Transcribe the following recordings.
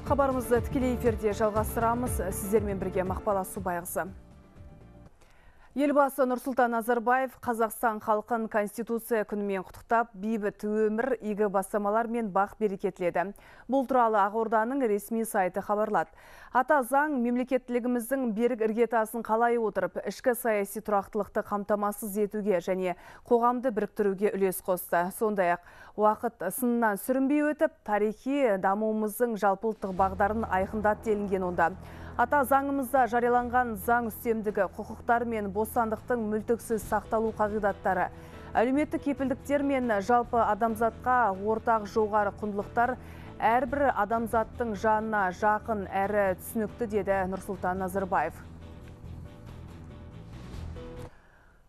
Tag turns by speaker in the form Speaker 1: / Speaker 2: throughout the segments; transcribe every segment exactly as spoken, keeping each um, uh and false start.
Speaker 1: Хабарымызды тікелей эфирде жалғастырамыз. Сіздермен бірге Мақпал Асубайқызы. Елбасы Нұрсұлтан Назарбаев Қазақстан халқын Конституция күнімен құттықтап, бейбіт өмір, игі бастамалар мен бақ берекетледі. Бұл туралы Ақорданың ресми сайты хабарлады. Ата заң мемлекеттілігіміздің берік іргетасын қалай отырып, ішкі саяси тұрақтылықты қамтамасыз етуге және қоғамды біріктіруге үлес қосты. Сондай-ақ уақыт сынынан сүрінбей өтіп, тарихи дамуымыздың жалпылықтық бағдарын айқындады делінген онда. Ата заңымызда жарияланған заң үстемдігі, құқықтар мен бостандықтың мүлтіксіз сақталу қағидаттары, әлеуметтік кепілдіктер мен жалпы адамзатқа ортақ жоғары құндылықтар әрбір адамзаттың жанына жақын әрі түсінікті, деді Нұрсұлтан Назарбаев.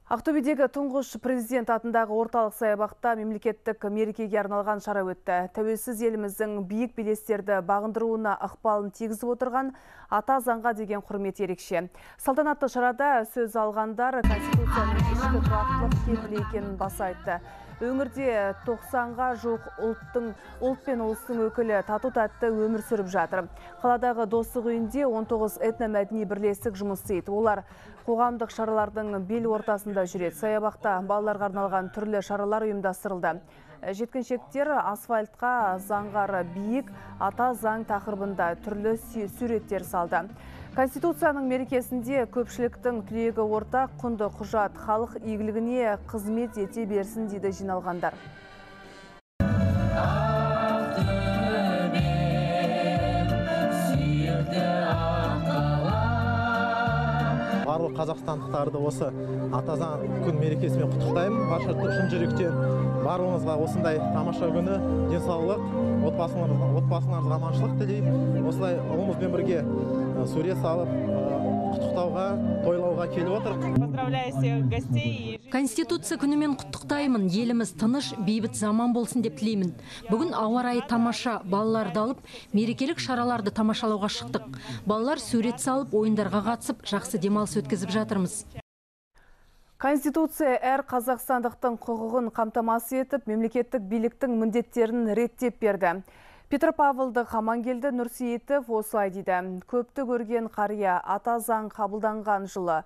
Speaker 1: Ақтөбедегі тұңғыш президент атындағы орталық саябақта мемлекеттік мерекеге арналған шара өтті. Тәуелсіз еліміздің биік белестерді бағындыруына ықпалын тигізіп отырған ата заңға деген құрмет ерекше. Салтанатты шарада сөз алғандар Конституцияның ішкі тұрақтылық кепілі екенін баса айтты. Өңірде тоқсанға жоқ ұлттың, ұлт пен ұлыстың өкілі тату-тәтті өмір сүріп жатыр. Қаладағы Достық үйінде он тоғыз этномәдени бірлестік жұмыс істейді. Олар қоғамдық шаралардың бел ортасында жүреді. Саябақта балаларға арналған түрлі шаралар ұйымдастырылды. Жеткіншектер асфальтқа заңғары биік ата заң тақырыбында түрлі суреттер салды. Конституцияның мерекесінде көпшіліктің тілегі ортақ, құнды құжат халық игілігіне қызмет ете берсін дейді жиналғандар.
Speaker 2: Барлық қазақстандықтарды осы ата заң күн мерекесімен құттықтаймын. Барша шын жүректен барлығыңызға осындай тамаша күні, денсаулық, отбасыларыңызға, отбасыларыңызға аманшылық тілеймін. Осылай ұлымызбен бірге сурет салып, құттықтауға, тойлауға келіп отыр.
Speaker 3: Поздравляю всех гостей.
Speaker 4: Конституция күнімен құттықтаймын. Еліміз тыныш, бейбіт заман болсын деп тілеймін. Бүгін ауа райы тамаша, балаларды алып, мерекелік шараларды тамашалауға шықтық. Балалар сурет салып, ойындарға қатысып, жақсы демалыс өткізіп жатырмыз.
Speaker 1: Конституция әр қазақстандықтың құқығын қамтамасыз етіп, мемлекеттік биліктің міндеттерін реттеп берді. Петропавлдық Амангелді Нұрсейітов осылай дейді. Көпті көрген қария ата заң қабылданған жылы.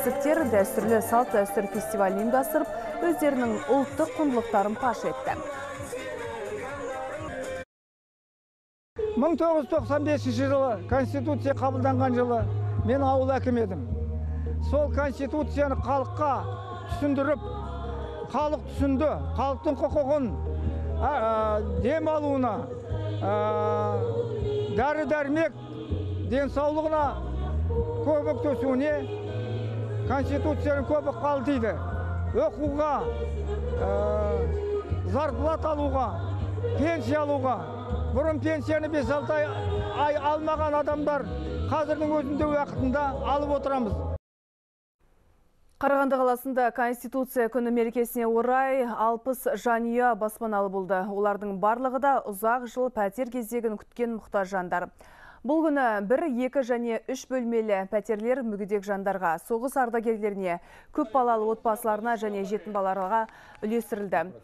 Speaker 1: Сіптер дәстүрлі салт дәстүр фестивалін ұйымдастырып, өздерінің ұлттық құндылықтарын паш етті.
Speaker 5: мың тоғыз жүз тоқсан бесінші жылы Конституция қабылданған жылы мен ауыл әкім едім. Сол Конституцияны халыққа түсіндіріп, халық түсінді, халықтың құқығын дем алуына, дәрі-дәрмек денсаулығына көмектесуіне Конституцияның көбі қалтиды. Оқуға, зарплат алуға, пенсия алуға. Бұрын пенсияны бес алты ай алмаған адамдар қазірдің өзінде уақытында алып отырамыз.
Speaker 1: Қарағанды қаласында Конституция күні мерекесіне орай алпыс жанұя баспаналы болды. Олардың барлығы да ұзақ жыл пәтер кезегін күткен мұқтаж жандар. Бұл күні бір, екі және үш бөлмелі пәтерлер мүгедек жандарға, соғыс ардагерлеріне, көп балалы отбасыларына және жетім балаларға үлестірілді.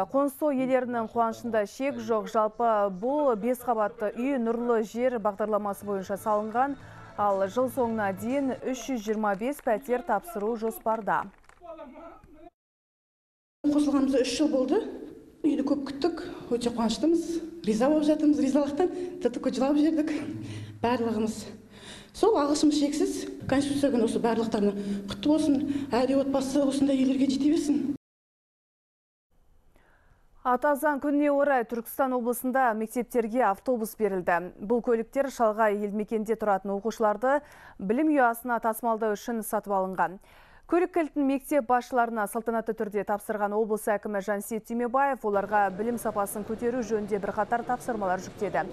Speaker 1: Қоныстау иелерінің қуанышында шек жоқ. Жалпы бұл бес қабатты үй нұрлы жер бағдарламасы бойынша салынған, ал жыл соңына дейін үш жүз жиырма бес пәтер тапсыру жоспарда.
Speaker 6: Қосылғанымызда үш жыл болды. Үйді көп күттік, өте қуаныштымыз, риза болып жатырмыз, ризалықтан тіпті көт жылап жердік барлығымыз. Сол алғысымыз шексіз. Конституция күні осы барлықтарына құтты болсын, әр отбасы осындай үйлерге жете берсін.
Speaker 1: Ата заң күніне орай Түркістан облысында мектептерге автобус берілді. Бұл көліктер шалғай елді мекенде тұратын оқушыларды білім ұясына тасымалдау үшін сатып алынған. Көлік кілтін мектеп басшыларына салтанатты түрде тапсырған облыс әкімі Жансейіт Түймебаев оларға білім сапасын көтеру жөнінде бірқатар тапсырмалар жүктеді.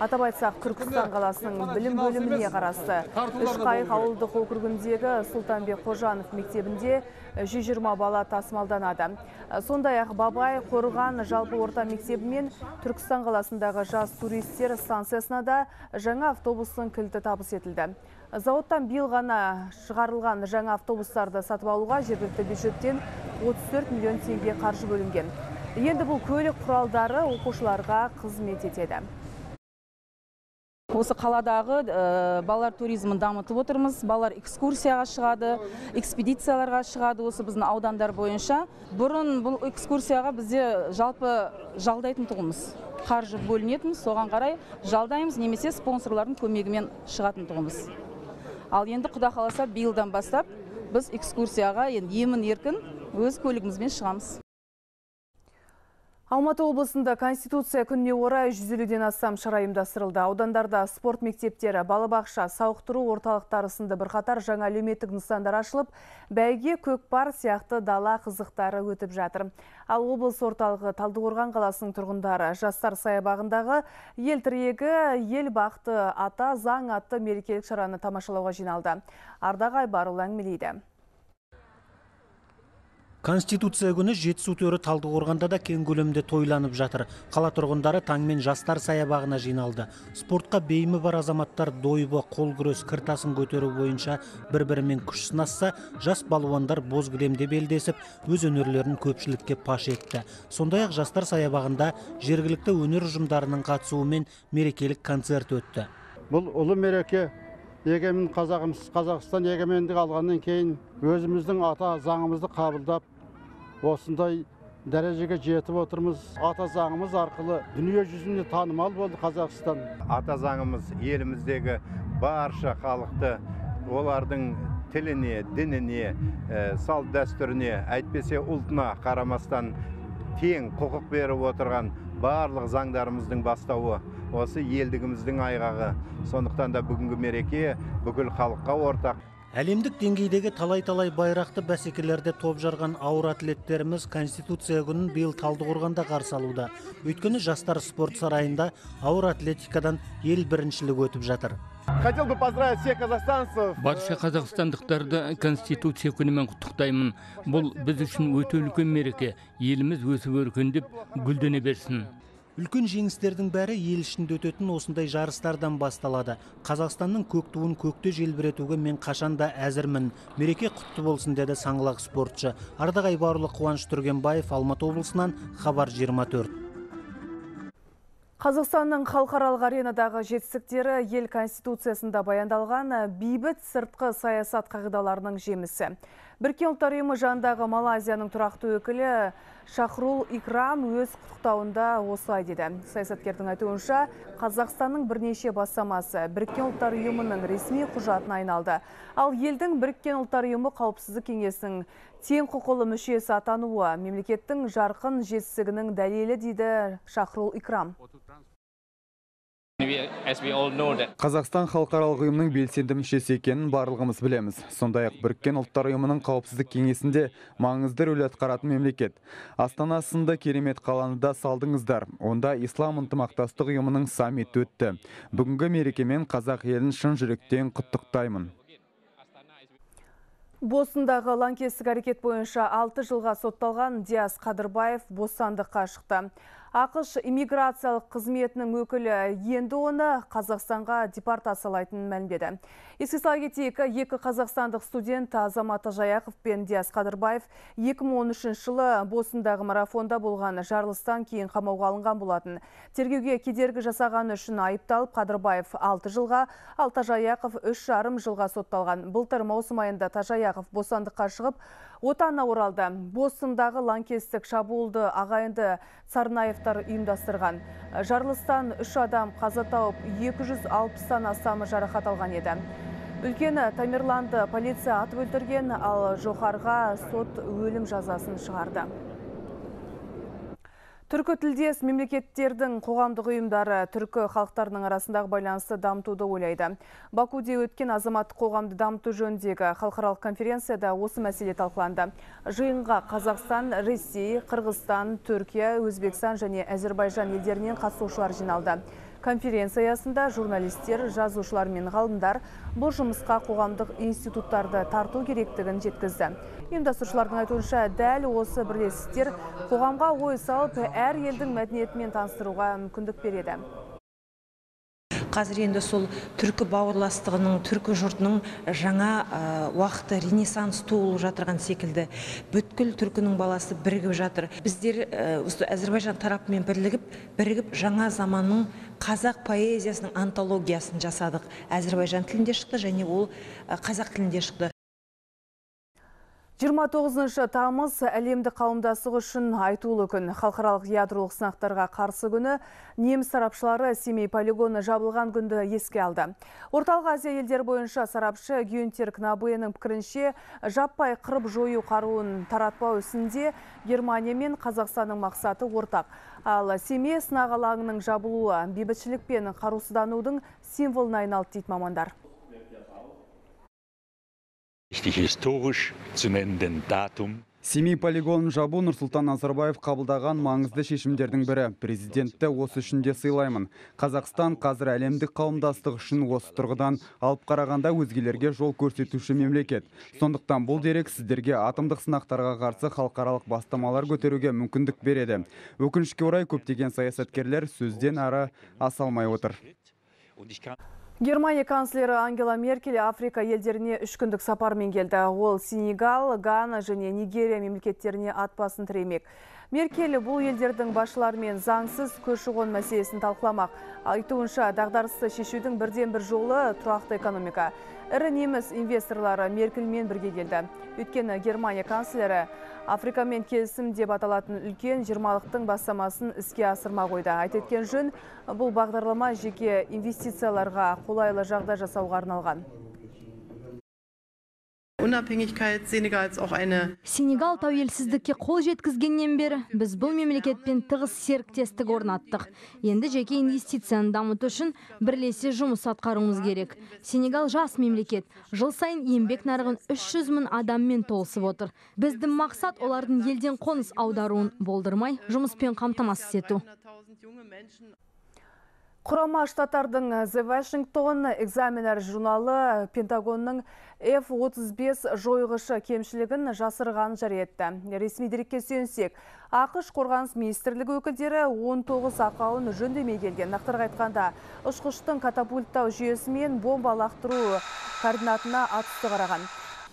Speaker 1: Атап айтсақ, Түркістан қаласының білім бөліміне қарасты Үшқайық ауылдық округіндегі Сұлтанбек Қожанов мектебінде жүз жиырма бала тасымалданады. Сондай-ақ Бабай Қорған жалпы орта мектебі мен Түркістан қаласындағы жас туристер станциясына да жаңа автобустың кілті табыс етілді. Зауыттан биыл ғана шығарылған жаңа автобустарды сатып алуға жергілікті бюджеттен отыз төрт миллион теңге қаржы бөлінген. Енді бұл көлік құралдары оқушыларға қызмет етеді.
Speaker 7: Осы қаладағы балалар туризмін дамытып отырмыз. Балалар экскурсияға шығады, экспедицияларға шығады осы біздің аудандар бойынша. Бұрын бұл экскурсияға бізде жалпы жалдайтын тұғымыз. Қаржы бөлінетін, соған қарай жалдаймыз, немесе спонсорлардың көмегімен шығатын тұғымыз. Ал енді Құда қаласа биылдан бастап біз экскурсияға емін еркін өз көлігімізбен шығамыз.
Speaker 1: Алматы облысында Конституция күніне орай жүз елуден астам шара ұйымдастырылды. Аудандарда спорт мектептері, балабақша, сауықтыру орталықтары сынды бірқатар жаңа әлеуметтік нысандар ашылып, бәйге, көкпар сияқты дала қызықтары өтіп жатыр. Ал облыс орталығы Талдықорған қаласының тұрғындары жастар саябағындағы ел тірегі, ел бақты ата заң атты мерекелік шараны тамашалауға жиналды. Ардақ Айбарұлы әңгімелейді.
Speaker 8: Конституция күні жетісу төрі Талдықорғанда да кең көлемде тойланып жатыр. Қала тұрғындары таңмен жастар саябағына жиналды. Спортқа бейімі бар азаматтар дойбы, қол күрес, кіртасын көтеру бойынша бір-бірімен күш сынасса, жас балуандар боз кілемде белдесіп, өз өнерлерін көпшілікке паш етті. Сондай-ақ жастар саябағында жергілікті өнер ұжымдарының қатысуымен мерекелік концерт өтті.
Speaker 9: Бұл ұлы мереке егемен Қазақымыз, Қазақстан егемендік алғаннан кейін өзіміздің ата заңымызды қабылдап, осындай дәрежеге жетіп отырмыз. Ата заңымыз арқылы дүние жүзіне танымал болды Қазақстан.
Speaker 10: Ата заңымыз еліміздегі барша халықты олардың тіліне, дініне, салт дәстүріне, әйтпесе ұлтына қарамастан тең құқық беріп отырған барлық заңдарымыздың бастауы осы елдігіміздің айғағы. Сондықтан да бүгінгі мереке бүкіл халыққа ортақ.
Speaker 8: Әлемдік деңгейдегі талай-талай байрақты бәсекелерде топ жарған ауыр атлеттеріміз Конституция күнін биыл Талдықорғанда қарсы алуда. Өйткені жастар спорт сарайында ауыр атлетикадан ел біріншілігі өтіп жатыр.
Speaker 11: Хотел бы поздравить всех казахстанцев.
Speaker 12: Барша қазақстандықтарды Конституция күнімен құттықтаймын. Бұл біз үшін өте үлкен мереке. Еліміз өсіп өркендеп, гүлдене берсін.
Speaker 8: Үлкен жеңістердің бәрі ел ішінде өтетін осындай жарыстардан басталады. Қазақстанның көк туын көкте желбіретуге мен қашанда әзірмін. Мереке құтты болсын деді саңлақ спортшы. Ардақ Айбарұлы, Қуаныш Түргенбаев, Алматы облысынан, Хабар жиырма төрт.
Speaker 1: Қазақстанның халықаралық аренадағы жетістіктері ел Конституциясында баяндалған бейбіт сыртқы саясат қағидаларының жемісі. Біріккен ұлттар ұйымы жанындағы Малайзияның тұрақты өкілі Шахрул Икрам өз құттықтауында осылай деді. Саясаткердің айтуынша, Қазақстанның бірнеше бастамасы Біріккен ұлттар ұйымының ресми құжатына айналды. Ал елдің Біріккен ұлттар ұйымы қауіпсіздік кеңесінің тең құқылы мүшесі атануы мемлекеттің жарқын жетістігінің дәлелі дейді Шахрул Икрам.
Speaker 13: Қазақстан халықаралық ұйымның белсенді мүшесі екенін барлығымыз білеміз. Сондай-ақ Біріккен ұлттар ұйымының қауіпсіздік кеңесінде маңызды рөл атқаратын мемлекет. Астанасында керемет қаланы да салдыңыздар. Онда Ислам ынтымақтастық ұйымының саммиті өтті. Бүгінгі мерекемен қазақ елін шын жүректен құттықтаймын.
Speaker 1: Босындағы лаңкестік әрекет бойынша алты жылға сотталған Диас Қадырбаев бостандыққа шықты. ақш иммиграциялық қызметінің өкілі енді оны Қазақстанға депортациялайтынын мәлімдеді. Еске сала кетейік, екі қазақстандық студент Азамат Тажаяқов пен Диас Қадырбаев екі мың он үшінші жылы Босындағы марафонда болған жарылыстан кейін қамауға алынған болатын. Тергеуге кедергі жасағаны үшін айыпталып, Қадырбаев алты жылға, ал Тажаяқов үш жарым жылға сотталған. Былтыр маусым айында Тажаяқов бостандыққа шығып, отанына оралды. Босындағы лаңкестік шабуылды ағайынды Сарнаевтар ұйымдастырған. Жарылыстан үш адам қаза тауып, екі жүз алпыстан астамы жарақат алған еді. Үлкені Тамерланды полиция атып өлтірген, ал жоғарыға сот өлім жазасын шығарды. Түркі тілдес мемлекеттердің қоғамдық ұйымдары түркі халықтарының арасындағы байланысты дамытуды ойлайды. Бакуде өткен азаматтық қоғамды дамыту жөніндегі халықаралық конференцияда осы мәселе талқыланды. Жиынға Қазақстан, Ресей, Қырғызстан, Түркия, Өзбекстан және Әзербайжан елдерінен қатысушылар жиналды. Конференция аясында журналистер, жазушылар мен ғалымдар бұл жұмысқа қоғамдық институттарды тарту керектігін жеткізді. Ұйымдастырушылардың айтуынша дәл осы бірлестіктер қоғамға ой салып, әр елдің мәдениетімен таныстыруға мүмкіндік береді.
Speaker 14: Қазір енді сол түркі бауырластығының, түркі жұртының жаңа уақыты ренессанс туылып жатырған секілді бүткіл түркінің баласы бірігіп жатыр. Біздер Әзербайжан тарапымен бірігіп, бірігіп жаңа заманның қазақ поэзиясының антологиясын жасадық. Әзербайжан тілінде шықты және ол қазақ тілінде шықты.
Speaker 1: жиырма тоғызыншы тамыз әлемді қауымдастығы үшін айтулы күн. Халықаралық ядролық сынақтарға қарсы күні неміс сарапшылары Семей полигоны жабылған күнді еске алды. Орталық Азия елдері бойынша сарапшы Гюнтер Кнабеның пікірінше, жаппай қырып жою қаруын таратпау ісінде Германия мен Қазақстанның мақсаты ортақ. Ал Семей сынақ алаңының жабылуы бейбітшілік пен қарусызданудың символына айналды дейді мамандар.
Speaker 13: Семей полигонын жабу Нұрсұлтан Назарбаев қабылдаған маңызды шешімдердің бірі. Президентті осы үшін де сыйлаймын. Қазақстан қазір әлемдік қауымдастық үшін осы тұрғыдан алып қарағанда өзгелерге жол көрсетуші мемлекет. Сондықтан бұл дерек сіздерге атомдық сынақтарға қарсы халықаралық бастамалар көтеруге мүмкіндік береді. Өкінішке орай көптеген саясаткерлер сөзден ары аса алмай отыр.
Speaker 1: Германия канцлері Ангела Меркель Африка елдеріне үш күндік сапармен келді. Ол Сенегал, Гана және Нигерия мемлекеттеріне ат басын тіремек. Меркель бұл елдердің басшыларымен заңсыз көші-қон мәселесін талқыламақ. Айтуынша, дағдарысты шешудің бірден бір жолы тұрақты экономика. Ірі неміс инвесторлары Меркельмен бірге келді. Өйткені Германия канцлері Африкамен келісім деп аталатын үлкен жиырмалықтың бастамасын іске асырма қойды. Айта кеткен жөн, бұл бағдарлама жеке инвестицияларға қолайлы жағдай жасауға арналған.
Speaker 15: Сенегал тәуелсіздікке қол жеткізгеннен бері біз бұл мемлекетпен тығыз серіктестік орнаттық. Енді жеке инвестицияны дамыту үшін бірлесе жұмыс атқаруымыз керек. Сенегал жас мемлекет. Жыл сайын еңбек нарығын үш жүз мың адаммен толысып отыр. Біздің мақсат олардың елден қоныс аударуын болдырмай, жұмыспен қамтамасыз ету.
Speaker 1: Құрама Штаттардың The Washington Examiner журналы Пентагонның эф отыз бес жойғышы кемшілігін жасырған жариетті. Ресми дерекке сүйенсек, ақш қорғаныс министрлігі өкілдері он тоғыз ақауын жөндемей келген. Нақтырақ айтқанда, ұшқыштың катапульттау жүйесі мен бомба лақтыру координатына атысты қараған.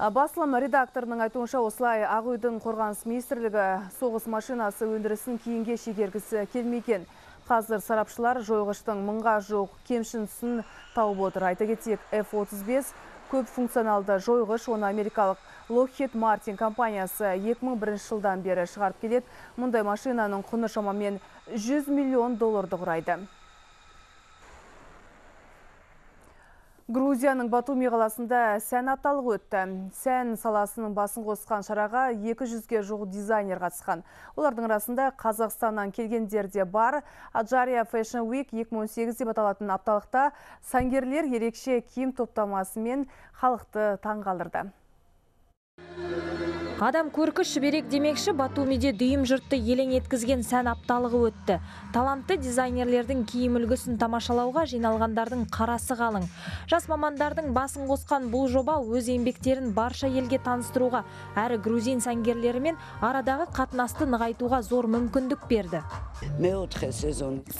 Speaker 1: Басылым редакторының айтуынша, осылай Ақ үйдің қорғаныс министрлігі соғыс машинасы өндірісін кейінге шегергісі келмеген. Қазір сарапшылар жойғыштың мыңға жоқ кемшінсін тауып отыр. Айта кетсек, эф отыз бес көп функционалды жойғыш, оны америкалық Lockheed Martin компаниясы екі мың бірінші жылдан бері шығарып келеді. Мұндай машинаның құны шамамен жүз миллион долларды құрайды. Грузияның Батуми қаласында сән апталығы өтті. Сән саласының басын қосқан шараға екі жүзге жуық дизайнер қатысқан. Олардың арасында Қазақстаннан келгендер де бар. Аджария Fashion Week екі мың он сегіз деп аталатын апталықта сәнгерлер ерекше киім топтамасымен халықты таңғалдырды.
Speaker 16: Адам көркі шүберек демекші, Батумиде дүйім жұртты елең еткізген сән апталығы өтті. Талантты дизайнерлердің киім үлгісін тамашалауға жиналғандардың қарасы қалың. Жас мамандардың басын қосқан бұл жоба өз еңбектерін барша елге таныстыруға, әрі грузин сәнгерлерімен арадағы қатынасты нығайтуға зор мүмкіндік берді.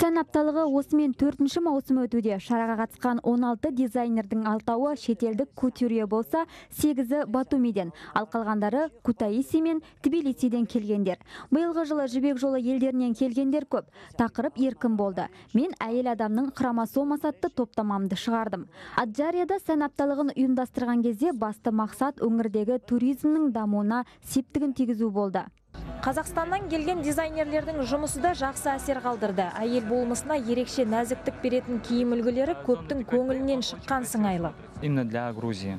Speaker 15: Сән апталығы осымен төртінші маусым өтуде. Шараға қатысқан он алты дизайнердің алтауы шетелдік кутюрье болса, сегізі Батумиден, ал қалғандары Кутаиси мен Тбилисиден келгендер. Биылғы жылы жібек жолы елдерінен келгендер көп. Тақырып еркін болды. Мен әйел адамның хромосомасы атты топтамамды шығардым. Аджарияда сән апталығын ұйымдастырған кезде басты мақсат өңірдегі туризмнің дамуына септігін тигізу болды.
Speaker 16: Қазақстаннан келген дизайнерлердің жұмысы да жақсы әсер қалдырды. Әйел болмысына ерекше нәзіктік беретін киім үлгілері көптің көңілінен шыққан сыңайлы.
Speaker 17: Именно для Грузии.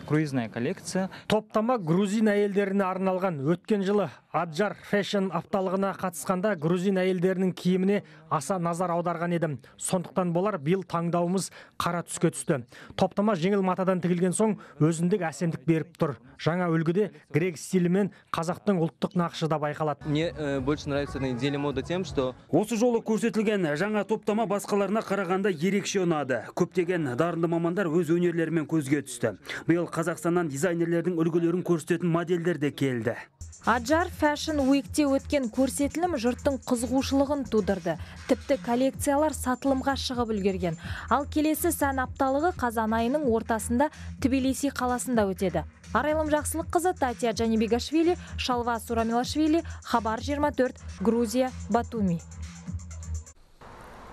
Speaker 17: Круизная коллекция.
Speaker 8: Топтама грузин әйелдеріне арналған. Өткен жылы
Speaker 17: Аджар фэшн апталығына қатысқанда грузин әйелдерінің киіміне аса назар аударған едім. Сондықтан болар биыл таңдауымыз қара түске түсті. Топтама жеңіл матадан тігілген соң өзіндік әсемдік беріп тұр. Жаңа үлгіде грек стилі мен қазақтың ұлттық нақышы да байқалады.
Speaker 18: Мне больше нравится на неделе мода тем, что
Speaker 19: осы жолы көрсетілген жаңа топтама басқаларына қарағанда ерекше ұнады. Көптеген дарынды мамандар өз өнерлерімен көзге түсті. Биыл Қазақстаннан дизайнерлердің үлгілерін көрсететін модельдер де келді.
Speaker 16: Аджар Fashion Week'те өткен көрсетілім жұрттың қызығушылығын тудырды. Тіпті коллекциялар сатылымға шығып үлгерген. Ал келесі сән апталығы қазан айының ортасында Тбилиси қаласында өтеді. Арайлым Жақсылыққызы, Татья Джанибегашвили, Шалва Сурамилашвили, Хабар жиырма төрт, Грузия, Батуми.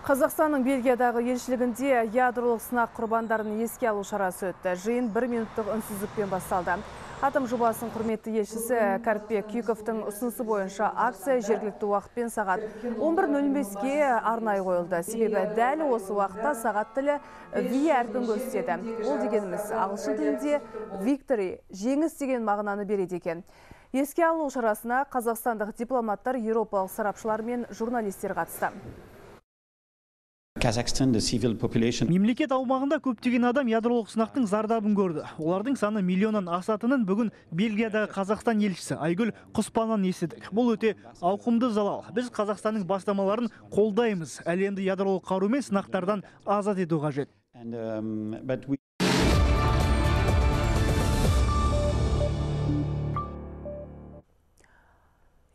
Speaker 1: Қазақстанның Бельгиядағы елшілігінде ядролық сынақ құрбандарын еске алу шарасы өтті. Жиын бір минуттық үнсіздікпен басталды. Атом жобасының құрметті елшісі Кәріпбек Күйіковтың ұсынысы бойынша акция жергілікті уақытпен сағат он бір нөл беске арнайы қойылды. Себебі дәл осы уақытта сағат тілі ви әрпін көрсетеді. Ол дегеніміз ағылшын тілінде victory, жеңіс деген мағынаны береді екен. Еске алу шарасына қазақстандық дипломаттар, еуропалық сарапшылар мен журналистер қатысты.
Speaker 17: Мемлекет аумағында көптеген адам ядролық сынақтың зардабын көрді. Олардың саны миллионнан асатынын бүгін Бельгиядағы Қазақстан елшісі Айгүл Құспаннан естідік. Бұл өте ауқымды залал. Біз Қазақстанның бастамаларын қолдаймыз. Әлемді ядролық қарумен сынақтардан азат ету қажет.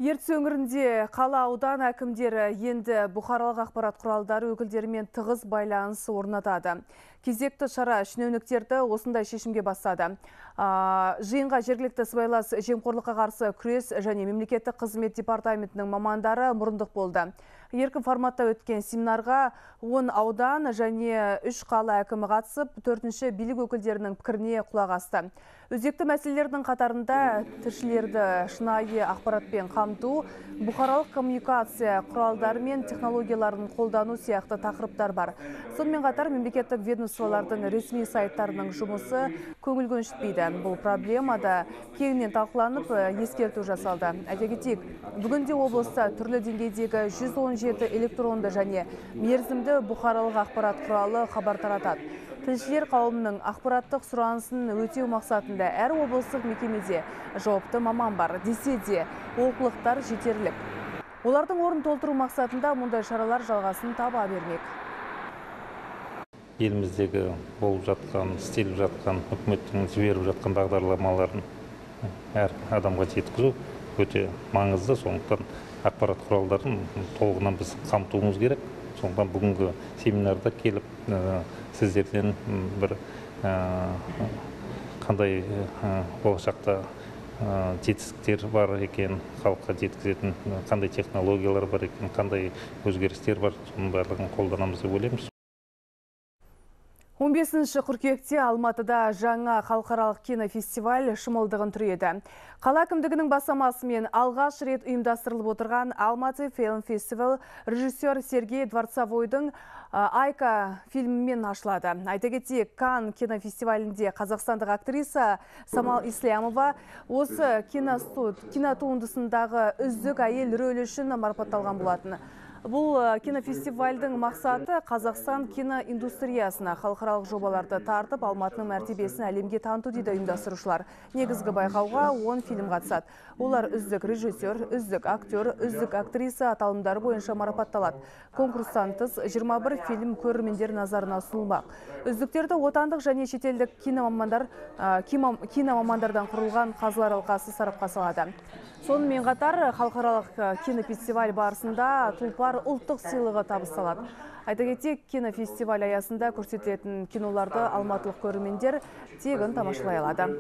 Speaker 1: Ертіс өңірінде қала аудан әкімдері енді бұқаралық ақпарат құралдары өкілдерімен тығыз байланыс орнатады. Кезекті шара шенеуніктерді осындай шешімге бастады. Жиынға жергілікті сыбайлас жемқорлыққа қарсы күрес және мемлекеттік қызмет департаментінің мамандары мұрындық болды. Еркін форматта өткен семинарға он аудан және үш қала әкімі қатысып, төртінші билік өкілдерінің пікіріне құлақ асты. Өзекті мәселелердің қатарында тілшілерді шынайы ақпаратпен қамту, бұқаралық коммуникация құралдары мен технологияларын қолдану сияқты тақырыптар бар. Сонымен қатар мемлекеттік ведомстволардың ресми сайттарының жұмысы көңіл көншітпейді. Бұл проблема да кеңінен талқыланып, ескерту жасалды. Айта кетейік, бүгінде облыста түрлі деңгейдегі жүз он жеті электронды және мерзімді бұқаралық ақпарат құралы хабар таратады. Тілшілер қауымының ақпараттық сұранысын өтеу мақсатында әр облыстық мекемеде жауапты маман бар. Десе де олқылықтар жетерлік. Олардың орнын толтыру мақсатында мұндай шаралар жалғасын таба бермек.
Speaker 20: Еліміздегі болып жатқан, істеліп жатқан, үкіметтің жіберіп жатқан бағдарламаларын әр адамға жеткізу өте маңызды. Сондықтан ақпарат құралдарын толығынан біз қамтуымыз керек. Сондықтан бүгінгі семинарда келіп сіздерден бір қандай болашақта жетістіктер бар екен, халыққа жеткізетін қандай технологиялар бар екен, қандай өзгерістер бар, соның барлығын қолданамыз деп ойлаймыз.
Speaker 1: он бесінші қыркүйекте Алматыда жаңа халықаралық кинофестиваль шымылдығын түреді. Қала әкімдігінің бастамасымен алғаш рет ұйымдастырылып отырған Алматы Film Festival режиссер Сергей Дворцовойдың Айка фильмімен ашылады. Айта кетейік, Канн кинофестивалінде қазақстандық актриса Самал Ислямова осы кинотуындысындағы үздік әйел рөлі үшін марапатталған болатын. Бұл кинофестивальдің мақсаты Қазақстан киноиндустриясына халықаралық жобаларды тартып, Алматының мәртебесін әлемге таныту дейді ұйымдастырушылар. Негізгі байқауға он фильм қатысады. Олар үздік режиссер, үздік актер, үздік актриса аталымдары бойынша марапатталады. Конкурстан тыс жиырма бір фильм көрермендер назарына ұсынылмақ. Үздіктерді отандық және шетелдік киномамандардан құрылған қазылар алқасы сарапқа салады. Сонымен қатар халықаралық кинофестиваль барысында тұлпар ұлттық сыйлығы табысталады. Айта кетейік, кинофестиваль аясында көрсетілетін киноларды алматылық көрермендер тегін тамашалай алады.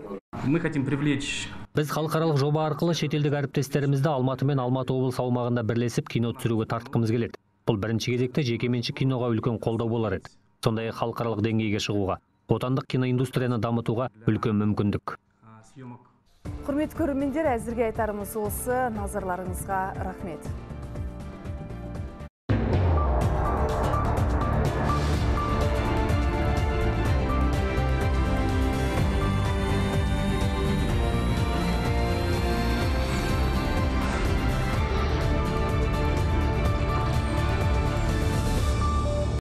Speaker 21: Мы хотим привлечь.
Speaker 22: Біз халықаралық жоба арқылы шетелдік әріптестерімізді Алматы мен Алматы облысы аумағында бірлесіп кино түсіруге тартқымыз келеді. Бұл бірінші кезекте жекеменшік киноға үлкен қолдау болар еді. Сондай халықаралық деңгейге шығуға, отандық киноиндустрияны дамытуға үлкен мүмкіндік.
Speaker 1: Құрметті көрермендер, әзірге айтарымыз осы. Назарларыңызға рахмет.